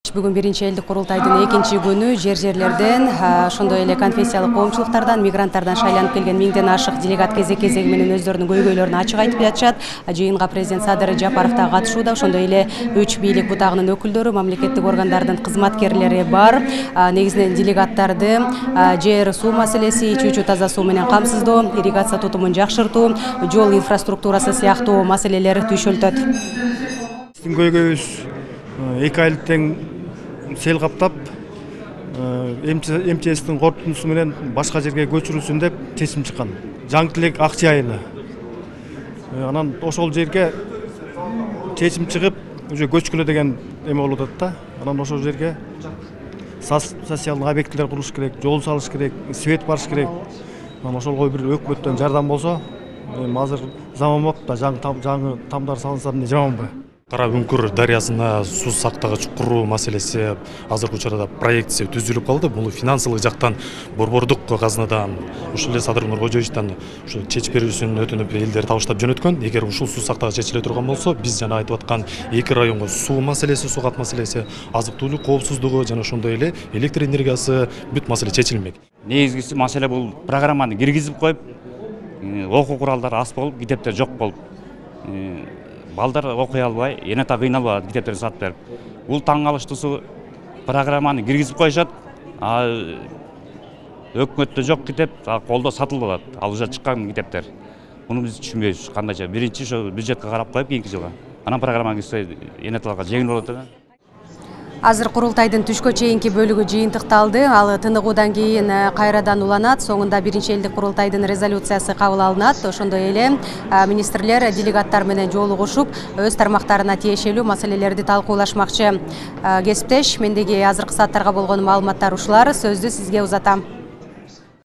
Бүгүн биринчи элдик курултайдын экинчи күнү жерлерден, ошондой эле конфессиялык коомчулуктардан, мигранттардан шайланып келген 1000ден ашык делегат кезек-кезеги менен өздөрүнүн көйгөйлөрүн ачык айтып жатышат. Жыйынга президент Садыр Жапаров да катышууда. Ошондой эле 3 бийлик бутагынын өкүлдөрү, мамлекеттик органдардын кызматкерлери бар. Негизинен делегаттарды жер суу маселеси, ичүүчү таза суу менен камсыздоо, ирригация тутумун жакшыртуу, жол инфраструктурасы сыяктуу маселелер түйшөлтөт. Биздин көйгөйүбүз 2 айлык тең сел каптап, МЧСтин корутундусу менен башка жерге көчүрүлсүн деп чечим чыккан. Жаңы тилек Акчы айылы. Анан ошол жерге чечим чыгып, уже көчкүлө деген эме болуп атат да. Анан ошол жерге социалдык объектилер курулуш керек, жол салыш керек, свет барыш керек. Анан ошолго бир өкмөттөн жардам болсо, азыр заман болуп да, жаңы тамдар салынса эмне жаманбы? Кара Үңкүр дарыясына суу сактагыч куруу маселеси азыркы учурда проектиси түзүлүп калды. Бул финансылык жактан борбордук казынадан, ушул эле Садыр Нуркожоевичтен ушу чечип берүүсүн өтүнүп элдер табыштап жөнөткөн. Эгер ушул суу сактагыч чечиле турган болсо, биз жана айтып аткан 2 районго суу маселеси, суу кат маселеси, азык-түлүк коопсуздугу жана ошондой эле электр энергиясы бүт маселе чечилмек. Негизгиси маселе бул программаны киргизип коюп, окуу куралдары аз болуп, китептер жок болуп, балдар окуй албай, эне та кыйналып атат китептерди сатып берип. Бул таң калыштуусу программаны киргизип коюшат, өкмөттө жок китеп, колдо сатылып атат. Ал уже чыккан китептер. Муну биз түшүнбөйбүз кандайча. Биринчи ошо бюджетке карап коюп кийинки жылга. Анан программа кирсе эне талга жеңил болот эле. Азыр курултайдын түшкө чейинки бөлүгү жыйынтыкталды. Ал тыныгуудан кийин кайрадан уланат. Соңунда биринчи элдик курултайдын резолюциясы кабыл алынат. Ошондой эле министрлер делегаттар менен жолугушуп, өз тармактарына тиешелүү маселелерди талкуулашмакчы. Кесиптеш, мендеги азыркы сааттарга болгон маалыматтар ушулар. Сөздү сизге узатам.